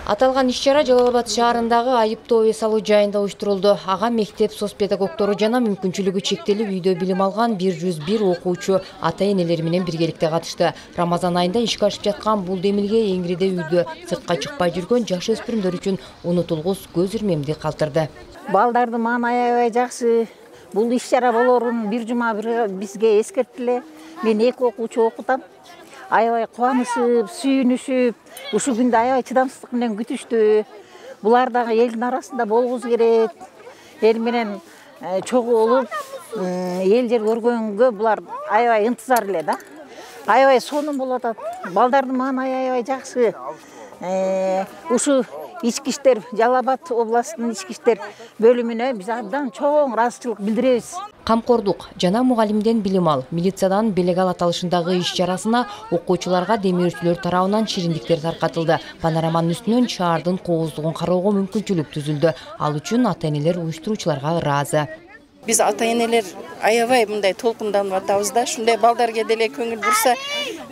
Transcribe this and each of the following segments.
Аталган иш-чара Жалал Абад шаарындагы айыптоо эс алуу жайында уюштурулду. Ага мектеп соцпедагогтору жана мүмкүнчүлүгү чектелип үйдө билим алган 101 окуучу ата-энелери менен биргеликте катышты. Рамазан айында ишке ашып жаткан бул демилге Эңириде үйдө сыртка чыкпай жүргөн жаш өспүрүмдөр үчүн унутулгус көз ирмемди калтырды. Балдарды мага аябай жакшы. Бул иш-чара болорун бир жума бизге эскерттиле. Мен 2 окуучу окутам. Аябай кубанышып, сүйүнүшүп, ушул күндө аябай чыдамсыздык менен күтүштү. Булар дагы элдин арасында болгусу керек. Эл менен чогуу болуп, эл жер көргөнгө булар аябай ынтызар эле да. Аябай сонун болуп атат. Балдардын мага аябай жакшы. Ушу ички иштер, Жалал Абад областынын ички иштер бөлүмүнө биз абдан чоң ыраазычылык билдиребиз. Камкордук жана мугалимден билим ал, милициядан белек ал аталышындагы иш-чарасына окуучуларга демирүүчүлөр тарабынан шириндиктер таркатылды. Панораманын үстүнөн шаардын кооздугун кароого мүмкүнчүлүк түзүлдү. Ал үчүн ата-энелер уюштуруучуларга ыраазы. Биз ата-энелер аябай мындай толкунданып атабыз да. Шундай балдарга деле көңүл бурса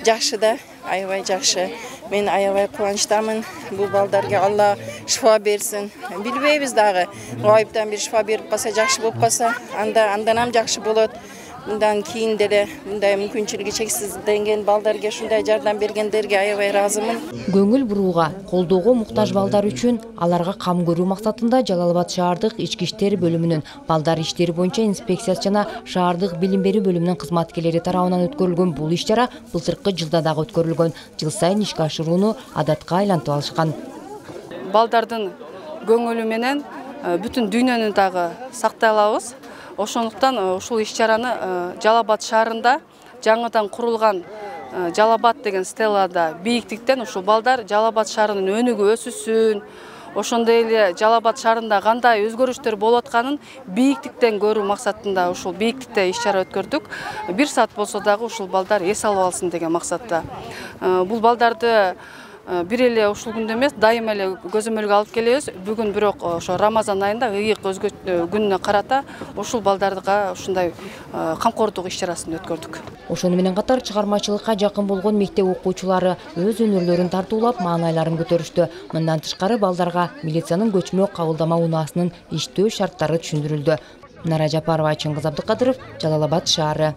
жакшы да, аябай жакшы. Мен аябай кубанычтамын. Бул балдарга Алла шифа берсин. Билбейбиз дагы. Гайыптан бир шифа берип калса, жакшы болуп калса, андан жакшы болот. Мындан кийин деле мындай мүмкүнчүлүгү чексизденген балдарга ушундай жардам бергендерге аябай ыраазымын. Көңүл бурууга, колдоого муктаж балдар үчүн аларга кам көрүү максатында Жалал Абад шаардык ички иштер бөлүмүнүн балдар иштери боюнча инспекциясы жана шаардык билим берүү бөлүмүнүн кызматкерлери тарабынан өткөрүлгөн бул иш-чара былтыркы жылда дагы өткөрүлгөн. Жыл сайын ишке ашырууну адатка айлантып алышкан. Балдардын көңүлү менен бүтүн дүйнөнү дагы сактай алабыз. Ошондуктан ушул иш-чараны Жалал Абад шаарында жаңыдан курулган Жалал Абад деген стеллада бийиктиктен ушул балдар Жалал Абад шаарынын өнүгүп өсүшүн, ошондой эле Жалал Абад шаарында кандай өзгөрүштөр болуп атканын бийиктиктен көрүү максатында ушул бийиктикте иш-чара өткөрдүк. 1 саат болсо дагы ушул балдар эс алып алсын деген максатта. Бул балдарды бир эле ушул күндө эмес, дайыма эле көзөмөлгө алып келебиз. Бүгүн бирок ошо Рамазан айында ыйык күнүнө карата ушул балдарга ушундай камкордук иш-чарасын өткөрдүк. Ошону менен катар чыгармачылыкка жакын болгон мектеп окуучулары өз өнөрлөрүн тартуулап, маанайларын көтөрүштү. Мындан тышкары балдарга милициянын көчмө кабылдама унаасынын иштөө шарттары түшүндүрүлдү. Нара Жапарова, Чыңгыз Абдыкадыров, Жалал Абад шаары.